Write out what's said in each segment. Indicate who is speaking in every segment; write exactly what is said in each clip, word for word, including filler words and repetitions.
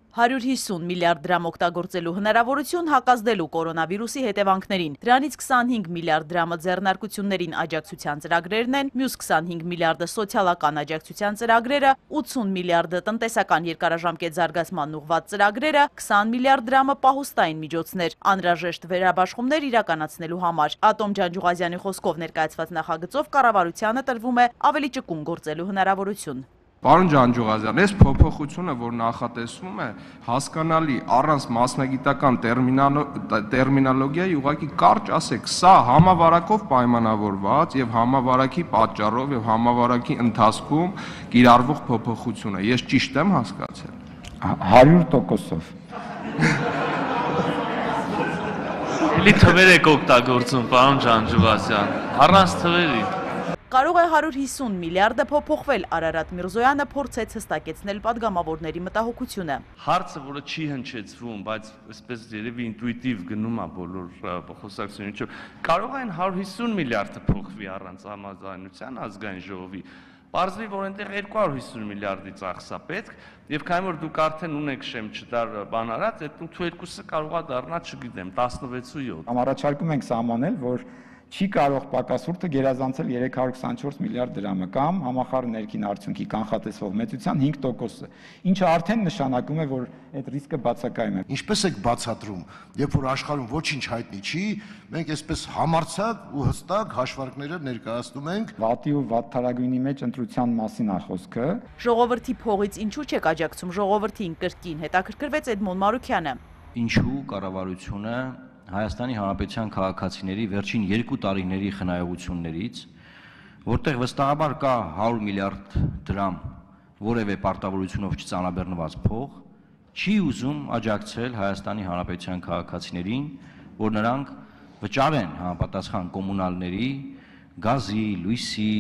Speaker 1: հարյուր հիսուն միլիարդ դրամ օգտագործելու հնարավորություն հակազդելու կորոնավիրուսի հետևանքներին։ Դրանից քսանհինգ միլիարդ դրամը ձեռնարկություններին աջակցության ծրագրերն են, մյուս քսանհինգ միլիարդը սոցիալական աջակցության ծրագրերը, ութսուն միլիարդը տնտեսական երկարաժամկետ զարգացման ուղղված ծրագրերը, քսան միլիարդ դրամը պահուստային միջոցներ, անհրաժեշտ վերաբաշխումներ իրականացնելու համար։ Ատոմ Ջանջուղազյանի խոսքով ներկայացված նախագծով կառավարությանը տրվում է ավելի ճկուն գործելու հնարավորություն։
Speaker 2: Պարոն Ջանջուղազյան, այս փոփոխությունը, որ նախատեսվում է, հասկանալի առանց մասնագիտական տերմինոլոգիայի ուղղակի կարճ ասեք, սա համավարակով պայմանավորված եւ համավարակի պատճառով եւ համավարակի ընթացքում կիրառվող փոփոխություն է։ Ես ճիշտ եմ հասկացել։
Speaker 3: հարյուր տոկոսով։
Speaker 4: Էլի թվեր եք օգտագործում, պարոն Ջանջուղազյան, առանց թվերի։
Speaker 1: Կարող է հարյուր հիսուն միլիարդը փոփոխվել, Արարատ Միրզոյանը փորձեց հստակեցնել падգամավորների մտահոգությունը։
Speaker 4: Հարցը, որը չի հնչեցվում, բայց այսպես երևի ինտուիտիվ գնում է բոլոր խոսակցությունից, կարող է հարյուր հիսուն միլիարդը փոխվի առանց համաձայնության ազգային ժողովի։ Պարզվի, որ այնտեղ երկու հարյուր հիսուն միլիարդի ծախս է պետք, եւ քանի որ դուք արդեն ունեք շեմչդար բան արած, այդ ութ-երկուսը կարող է դառնա, չգիտեմ, տասնվեց ու յոթ։
Speaker 3: Առաջարկում ենք սահմանել, որ չի կարող պակասուրդը գերազանցել երեք հարյուր քսանչորս միլիարդ դրամը կամ համախառն ներքին արդյունքի կանխատեսվող մեծության հինգ տոկոսը, ինչը արդեն նշանակում է, որ այդ ռիսկը բացակայում է։
Speaker 5: Ինչպես եք բացատրում, երբ որ աշխարհում ոչինչ հայտնի չի, մենք այսպես համարձակ ու հստակ հաշվարկները ներկայացնում ենք։
Speaker 3: Վատի ու վատթարագույնի մեջ ընտրության մասին է խոսքը։
Speaker 1: Ժողովրդի փողից ինչու չեք աջակցում ժողովրդին կրկին հետաքրքրվեց Էդմոն Մարուքյանը։
Speaker 6: Ինչու կառավարությունը Հայաստանի Հանրապետության քաղաքացիների վերջին երկու տարիների խնայողություններից, որտեղ վստահաբար կա հարյուր միլիարդ դրամ որևէ պարտավորությունով չծանրաբեռնված փող, չի ուզում աջակցել Հայաստանի Հանրապետության քաղաքացիներին, որ նրանք վճարեն համապատասխան կոմունալների, գազի, լույսի,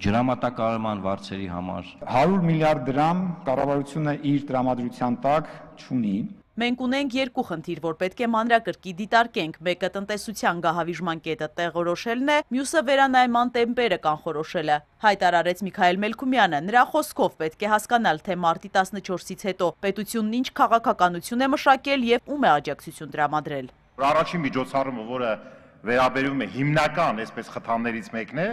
Speaker 6: ջրամատակարարման վարձերի համար։
Speaker 3: հարյուր միլիարդ դրամ կառավարությունը իր տրամադրության տակ չունի։
Speaker 1: Մենք ունենք երկու խնդիր, որ պետք է մանրակրկիտ դիտարկենք, մեկը տնտեսության գահավիժման կետը տեղորոշելն է, մյուսը վերանայման տեմպերը կանխորոշելը, հայտարարեց Միքայել Մելքումյանը։ Նրա խոսքով պետք է հասկանալ, թե մարտի տասնչորսից հետո պետությունն ինչ քաղաքականություն է մշակել եւ ում է աջակցություն տրամադրել։
Speaker 7: Առաջին միջոցառումը, որը վերաբերում է հիմնական այսպես խթաններից մեկն է,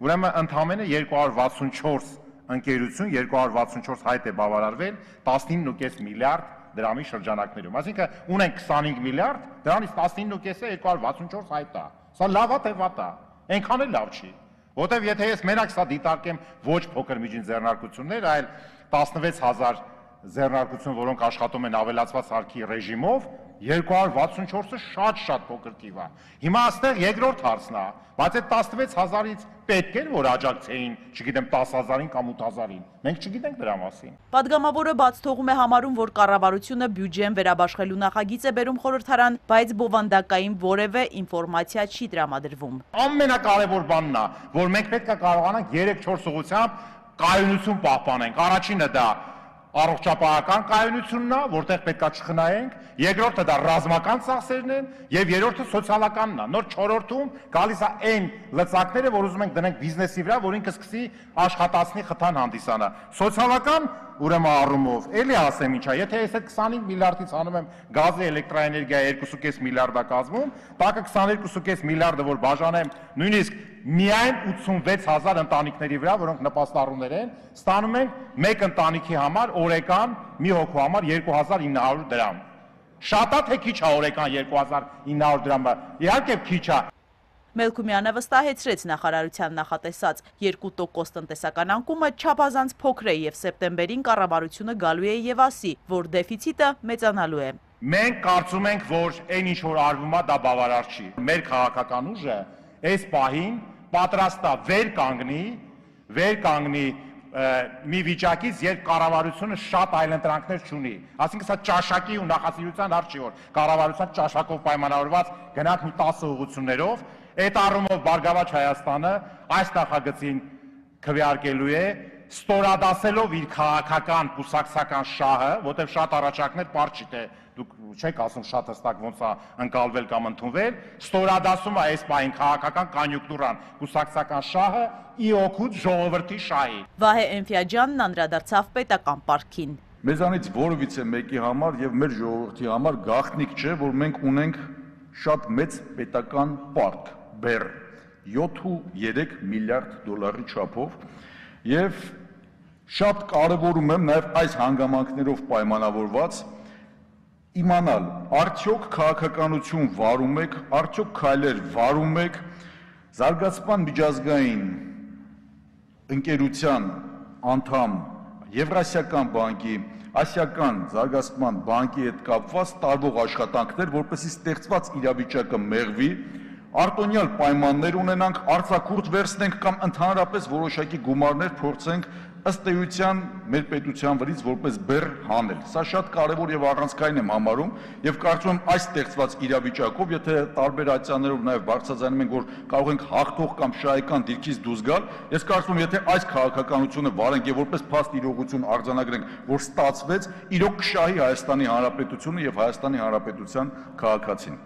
Speaker 7: ուրեմն ընդամենը երկու հարյուր վաթսունչորս ընկերություն, երկու հարյուր վաթսունչորս հայտ է բավարարվել տասնինը կես միլիարդ դրամի շրջանակներում, այսինքն ունենք քսանհինգ միլիարդ, դրանից տասնինը կեսը երկու հարյուր վաթսունչորս հայտ է։ Սա լավ է թե վատ է։ Այնքան էլ լավ չի։ Որտեվ եթե ես մենակ սա դիտարկեմ ոչ փոքր միջին ձեռնարկություններ, այլ տասնվեց հազար ձեռնարկություն, որոնք աշխատում են ավելացված հարկի ռեժիմով, երկու հարյուր վաթսունչորսը շատ-շատ փոքր թիվ է։ Հիմա այստեղ երկրորդ հարցն է, բայց այդ տասնվեց հազարից պետք է որ աջակցեին, չգիտեմ, տասը հազարին կամ ութ հազարին։ Մենք չգիտենք դրա մասին։
Speaker 1: Падգամավորը բաց թողում է համարում, որ կառավարությունը բյուջեն վերաբաշխելու նախագիծ է բերում խորհրդարան, բայց բովանդակային որևէ ինֆորմացիա չի տրամադրվում։
Speaker 7: Ամենակարևոր բանն է, որ մենք պետք է կարողանանք երեք-չորս ուղղությամբ կայունություն պահպանենք։ Առաջինը դա առողջապահական կայունությունն է, որտեղ պետքա չխնայենք, երկրորդը դա ռազմական ծախսերն են եւ երրորդը սոցիալականն է։ Նոր չորրորդում գալիս է այն լծակները, որ ուզում ենք դնենք բիզնեսի վրա, որ ինքը սկսի աշխատացնի խթան հանդիսանա։ Սոցիալական ուրեմն առումով էլի ասեմ ինչա, եթե ես այդ քսանհինգ միլիարդից անում եմ գազի, էլեկտրաէներգիա երկու կես միլիարդա կազմում, տակը քսաներկու կես միլիարդը որ բաժանեմ նույնիսկ միայն ութսունվեց հազար ընտանիքների վրա, որոնք նպաստառուներ են, ստանում ենք մեկ ընտանիքի համար օրեկան մի հոգու համար երկու հազար ինը հարյուր դրամ։ Շատ է թե քիչ է օրեկան երկու հազար ինը հարյուր դրամը։ Իհարկե քիչ է։
Speaker 1: Մելքումյանը վստահեցրեց նախարարության նախատեսած երկու տոկոս տնտեսական անկումը չափազանց փոքր է եւ սեպտեմբերին կառավարությունը գալու է եւ ասի, որ դեֆիցիտը մեծանալու է։
Speaker 7: Մենք կարծում ենք, որ այն ինչ որ արվում է, դա բավարար չի։ Մեր քաղաքական ուժը այս պահին պատրաստ է վեր կանգնի, վեր կանգնի մի վիճակից, երբ կառավարությունը շատ այլընտրանքներ չունի։ Այսինքն սա ճաշակի ու նախասիրության հարց չի, որ կառավարության ճաշակով պայմանավորված գնանք մի տասը ուղղություններով, այդ առումով Բարգավաճ Հայաստանը այս նախագծին քվեարկելու է, ստորադասելով իր քաղաքական կուսակցական շահը, որտեղ շատ առաջարկներ պարզ չի թե դուք չեք ասում շատ հստակ ոնց է ընկալվել կամ ընդունվել, ստորադասում է այս պահին քաղաքական կոնյունկտուրան, կուսակցական շահը ի օգուտ ժողովրդի շահի։
Speaker 1: Վահե Էնֆիաջյանն անդրադարձավ պետական պարտքին։
Speaker 8: Մեզանից որևիցե մեկի համար եւ մեր ժողովրդի համար գաղտնիք չէ, որ մենք ունենք շատ մեծ պետական պարկ, բեռ, յոթ ու երեք միլիարդ դոլարի չափով եւ շատ կարևորում եմ նաեւ այս հանգամանքներով պայմանավորված իմանալ, արդյոք քաղաքականություն վարում եք, արդյոք քայլեր վարում եք զարգացման միջազգային ընկերության անդամ Եվրասիական բանկի, Ասիական զարգացման բանկի հետ կապված տարվող աշխատանքներ, որպեսզի ստեղծված իրավիճակը մեղվի, արտոնյալ պայմաններ ունենանք, արձակուրդ վերցնենք կամ ընդհանրապես որոշակի գումարներ փորձենք ըստ էության մեր պետության վրից որպես բեռ հանել։ Սա շատ կարևոր եւ առանցքային եմ համարում եւ կարծում եմ այս ստեղծված իրավիճակով, եթե տարբեր ատյաններով նաեւ բարձրացնում ենք, որ կարող ենք հաղթող կամ շահեկան դիրքից դուրս գալ, ես կարծում եմ, եթե այս քաղաքականությունը վարենք եւ որպես փաստ իրողություն արձանագրենք, որ ստացվեց, իրոք կշահի Հայաստանի Հանրապետությունը եւ Հայաստանի Հանրապետության քաղաքացին։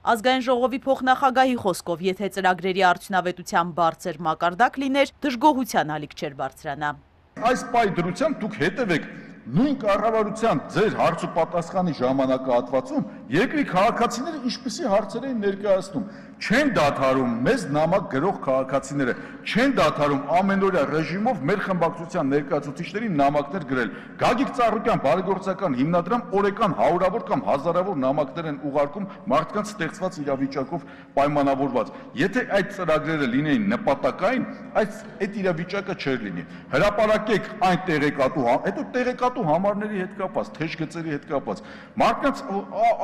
Speaker 1: Ազգային ժողովի փոխնախագահի խոսքով, եթե ծրագրերի արդյունավետության բարձր մակարդակ լիներ, դժգոհության ալիք չէր բարձրանա։
Speaker 8: Այս պայ դրությամբ դուք հետևեք նույն կառավարության ձեր հարց ու պատասխանի ժամանակահատվածում երկրի քաղաքացիները ինչպիսի հարցեր են ներկայացնում, չեն դադարում մեզ նամակ գրող քաղաքացիները, չեն դադարում ամենօրյա ռեժիմով մեր խմբակցության ներկայացուցիչներին նամակներ գրել։ Գագիկ Ծառուկյան բարեգործական հիմնադրամ օրական հարյուրավոր կամ հազարավոր նամակներ են ուղարկում մարդկանց ստեղծված իրավիճակով պայմանավորված։ Եթե այդ ծրագրերը լինեին նպատակային, այս այդ իրավիճակը չէր լինի։ Հրապարակեք այն տեղեկատու, հետո տեղեկատու համարների հետ կապված, թեժ գծերի հետ կապված։ Մարդկանց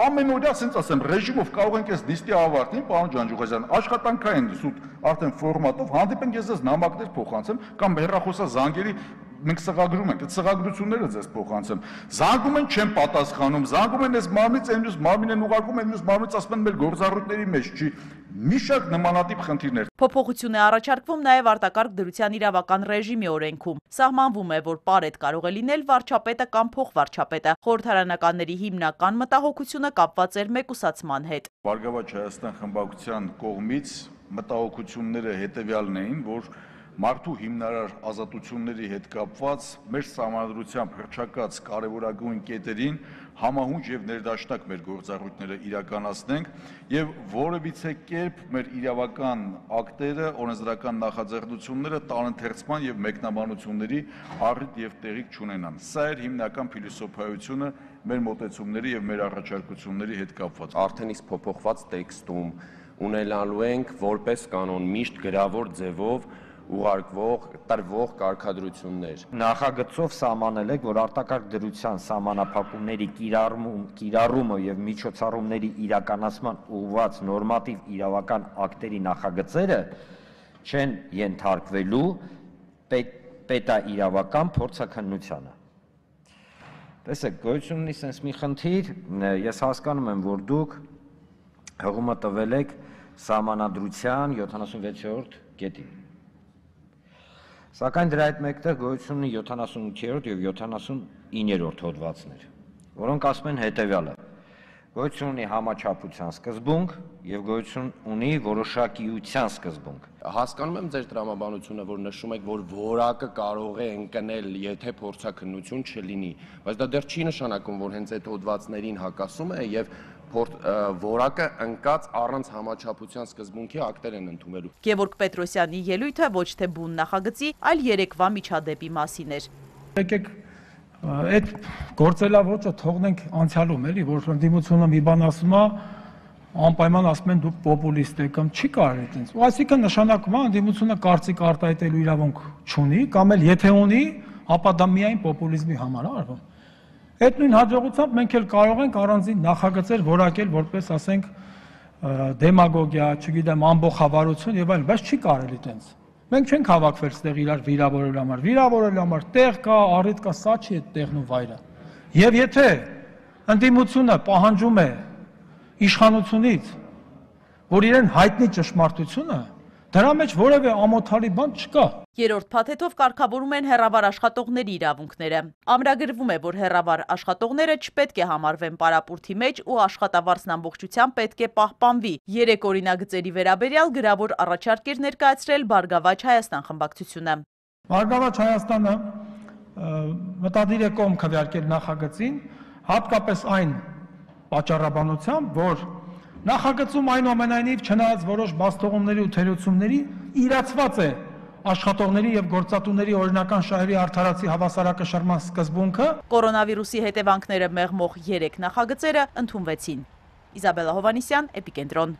Speaker 8: ամենօրյա, ասենց ասեմ, ռեժիմով կարող ենք այս նիստի ավարտին, պարոն Ջանջուղազյան, աշխատանքային սուտ արդեն ֆորմատով հանդիպենք, ես ձեզ նամակներ փոխանցեմ կամ հեռախոսազանգերի մենք սղագրում ենք, այդ սղագրությունները ձեզ փոխանցեմ։ Զանգում են չեն պատասխանում, զանգում են այս մարմնից, այն մյուս մարմին են ուղարկում, այն մյուս մարմնից ասում են մեր գործառույթների մեջ չի։ Մի շարք նմանատիպ խնդիրներ։
Speaker 1: Փոփոխություն է առաջարկվում նաև արտակարգ դրության իրավական ռեժիմի օրենքում։ Սահմանվում է, որ պարետ կարող է լինել վարչապետը կամ փոխվարչապետը։ Խորհրդարանականների հիմնական մտահոգությունը կապված էր մեկուսացման հետ։
Speaker 8: Բարգավաճ Հայաստան խմբակցության կողմից մտահոգությունները հետևյալն էին, որ մարդու հիմնարար ազատությունների հետ կապված մեր սահմանադրությամբ հռչակած կարևորագույն կետերին համահունչ եւ ներդաշնակ մեր գործառույթները իրականացնենք եւ որևիցե կերպ մեր իրավական ակտերը, օրենսդրական նախաձեռնությունները տանընթերցման եւ մեկնաբանությունների առիթ եւ տեղիք չունենան։ Սա էր հիմնական փիլիսոփայությունը մեր մոտեցումների եւ մեր առաջարկությունների հետ կապված։
Speaker 9: Արդեն իսկ փոփոխված տեքստում ունենալու ենք որպես կանոն միշտ գրավոր ձևով ուղարկվող տրվող կարգադրություններ։
Speaker 10: Նախագծով սահմանել եք, որ արտակարգ դրության սահմանափակումների կիրառումը եւ միջոցառումների իրականացման ուղղված նորմատիվ իրավական ակտերի նախագծերը չեն ենթարկվելու պետաիրավական փորձաքննությանը։ Տեսեք, գոյություն ունի sense մի խնդիր, ես հասկանում եմ, որ դուք հղումը տվել եք սահմանադրության յոթանասունվեցերորդ կետին։ Սակայն դրա հետ մեկտեղ գոյություն ունի յոթանասունութերորդ եւ յոթանասունիններորդ հոդվածներ, որոնք ասում են հետեւյալը. գոյություն ունի համաչափության սկզբունք եւ գոյություն ունի որոշակիության սկզբունք։
Speaker 9: Հասկանում եմ ձեր տրամաբանությունը, որ նշում եք, որ որակը կարող է ընկնել, եթե փորձաքննություն չլինի, բայց դա դեռ չի նշանակում, որ հենց այդ հոդվածներին հակասում է եւ որակը ընկած առանց համաչափության սկզբունքի ակտեր են ընդունելու։
Speaker 1: Գևորգ Պետրոսյանի ելույթը ոչ թե բուն նախագծի, այլ երեկվա միջադեպի մասին էր։
Speaker 11: Եկեք այդ գործելավոճը թողնենք անցյալում, էլի, որ ընդդիմությունը մի բան ասում է, անպայման ասում են դուք պոպուլիստ եք, կամ չի կարելի այդպես։ Ու այսինքն նշանակում է ընդդիմությունը կարծիք արտահայտելու իրավունք չունի, կամ էլ եթե ունի, ապա դա միայն պոպուլիզմի համար է արվում։ Այդ նույն հաջողությամբ մենք էլ կարող ենք առանձին նախագծեր որակել որպես, ասենք, դեմագոգիա, չգիտեմ, ամբողջավարություն եւ այլն, բայց չի կարելի այդպես։ Մենք չենք հավաքվել այդտեղ իրար վիրավորելու համար, վիրավորելու համար տեղ կա, առիթ կա, սա չի այդ տեղն ու վայրը։ Եվ եթե ընդդիմությունը պահանջում է իշխանությունից, որ իրեն հայտնի ճշմարտությունը, դրա մեջ որևէ ամոթալի բան չկա։
Speaker 1: Երրորդ փաթեթով կարգավորում են հեռավար աշխատողների իրավունքները։ Ամրագրվում է, որ հեռավար աշխատողները չպետք է համարվեն պարապուրդի մեջ ու աշխատավարձն ամբողջությամբ պետք է պահպանվի։ Երեք օրինագծերի վերաբերյալ գրավոր առաջարկ էր ներկայացրել Բարգավաճ Հայաստան խմբակցությունը։
Speaker 11: Բարգավաճ Հայաստանը մտադիր է կողմ քվեարկել նախագծին, հատկապես այն պատճառաբանությամբ, որ նախագծում այնուամենայնիվ չնայած որոշ բացթողումների ու թերությունների իրացված է աշխատողների եւ գործատուների օրինական շահերի արդարացի հավասարակշռման սկզբունքը։
Speaker 1: Կորոնավիրուսի հետևանքները մեղմող երեք նախագծերը ընդունվեցին։ Իզաբելլա Հովանիսյան, Էպիկենտրոն։